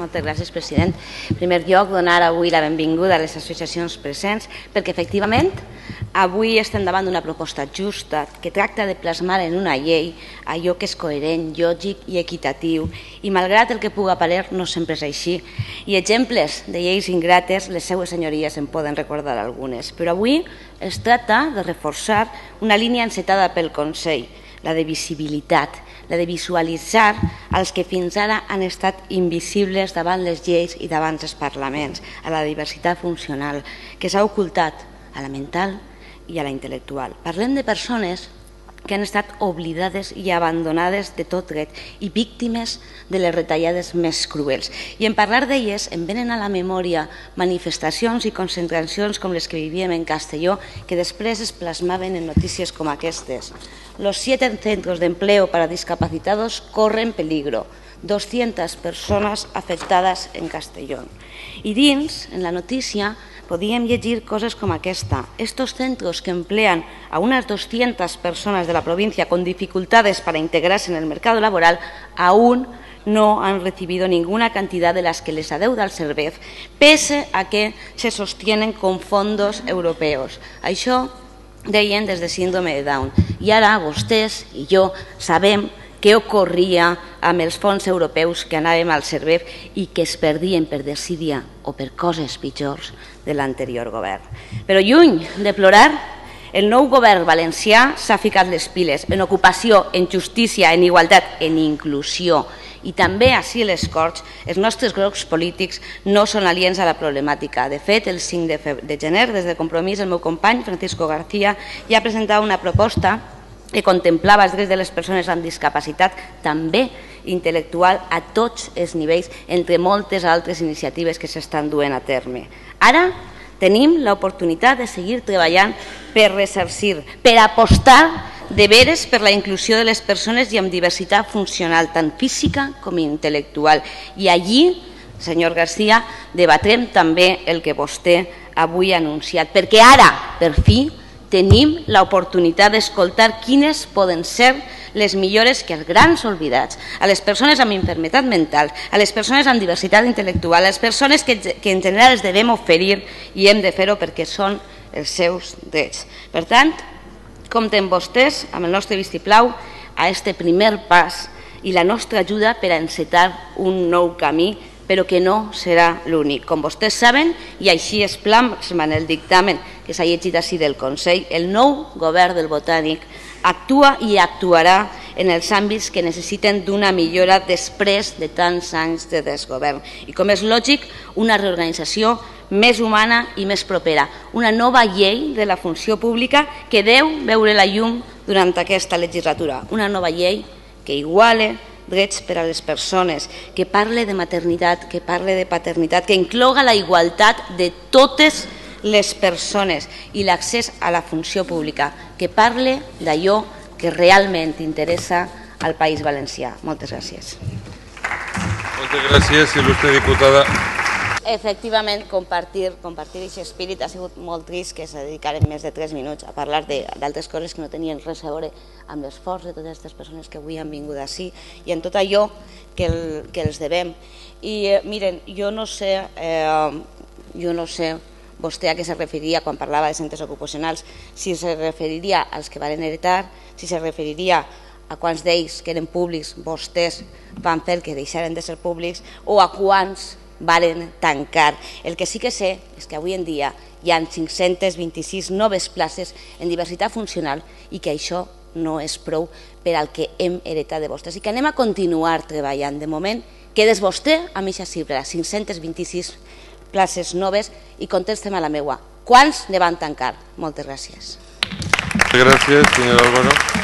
Moltes gràcies, president. En primer lloc, donar avui la benvinguda a les associacions presents, perquè efectivament avui estem davant d'una proposta justa que tracta de plasmar en una llei allò que és coherent, lògic i equitatiu, i malgrat el que puga parer, no sempre és així. I exemples de lleis ingrates, les seues senyories en poden recordar algunes. Però avui es tracta de reforçar una línia encetada pel Consell, la de visibilitat, la de visualitzar els que fins ara han estat invisibles davant les lleis i davant els parlaments, a la diversitat funcional, que s'ha ocultat a la mental i a la intel·lectual. Parlem de persones que han estat oblidades i abandonades de tot dret i víctimes de les retallades més cruels. I en parlar d'elles em venen a la memòria manifestacions i concentracions com les que vivíem en Castelló, que després es plasmaven en notícies com aquestes. Los 7 centros de empleo para discapacitados corren peligro. 200 persones afectades en Castellón. I dins, en la notícia, podíem llegir coses com aquesta. Estos centros que emplean a unas 200 personas de la provincia con dificultades para integrarse en el mercado laboral aún no han recibido ninguna cantidad de las que les adeuda el Servef, pese a que se sostienen con fondos europeos. Això deien des de síndrome de Down. I ara vostès i jo sabem què ocorria amb els fons europeus que anàvem al Servef i que es perdien per desídia o per coses pitjors de l'anterior govern. Però lluny de plorar, el nou govern valencià s'ha ficat les piles en ocupació, en justícia, en igualtat, en inclusió. I també així les Corts, els nostres grups polítics no són aliens a la problemàtica. De fet, el 5 de gener, des de Compromís, el meu company, Francisco García, ja presentava una proposta que contemplava els drets de les persones amb discapacitat, també intel·lectual, a tots els nivells, entre moltes altres iniciatives que s'estan duent a terme. Ara tenim l'oportunitat de seguir treballant per ressarcir, per apostar de veres per la inclusió de les persones i amb diversitat funcional, tant física com intel·lectual. I allí, senyor García, debatrem també el que vostè avui ha anunciat, perquè ara, per fi, tenim l'oportunitat d'escoltar quines poden ser les millores que els grans oblidats, a les persones amb malaltia mental, a les persones amb diversitat intel·lectual, a les persones que en general els devem oferir i hem de fer-ho perquè són els seus drets. Per tant, compten vostès amb el nostre vistiplau a aquest primer pas i la nostra ajuda per a encetar un nou camí, però que no serà l'únic. Com vostès saben, i així es plasma en el dictamen que s'ha llegit així del Consell, el nou govern del Botànic actua i actuarà en els àmbits que necessiten d'una millora després de tants anys de desgovern. I com és lògic, una reorganització més humana i més propera. Una nova llei de la funció pública que deu veure la llum durant aquesta legislatura. Una nova llei que iguale drets per a les persones, que parle de maternitat, que parle de paternitat, que incloga la igualtat de totes les persones i l'accés a la funció pública, que parle d'allò que realment interessa al País Valencià. Moltes gràcies. Moltes gràcies, il·lustre diputada. Efectivament, compartir aquest espírit. Ha sigut molt trist que se dedicaren més de 3 minuts a parlar d'altres coses que no tenien res a veure amb l'esforç de totes aquestes persones que avui han vingut així i en tot allò que els devem. I miren, jo no sé vostè a què se referiria quan parlava de centres ocupacionals, si se referiria als que van heretar, si se referiria a quants d'ells que eren públics vostès van fer que deixaren de ser públics o a quants varen tancar. El que sí que sé és que avui en dia hi ha 526 noves places en diversitat funcional i que això no és prou per al que hem heretat de vostès i que anem a continuar treballant. De moment, quedes vostè amb aquesta xifra, 526 places noves i contestem a la meua. Quants ne van tancar? Moltes gràcies. Gràcies, senyor Álvaro.